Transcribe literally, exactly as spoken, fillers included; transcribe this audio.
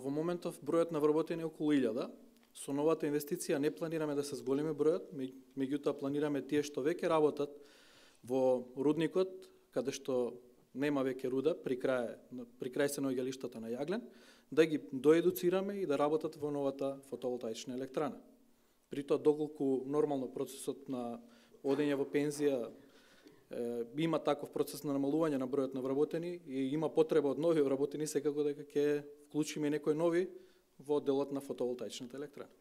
Во моментов бројот на вработени е околу илјада. Со новата инвестиција не планираме да се зголеми бројот, меѓутоа планираме тие што веќе работат во рудникот, каде што нема веќе руда, при крај, при крај се наоѓалиштата на јаглен, да ги доедуцираме и да работат во новата фотоволтаична електрана. При тоа, доколку нормално процесот на одење во пензија е, има таков процес на намалување на бројот на вработени и има потреба од нови вработени, секако дека ќе вклучиме некои нови во делот на фотоволтаичната електрана.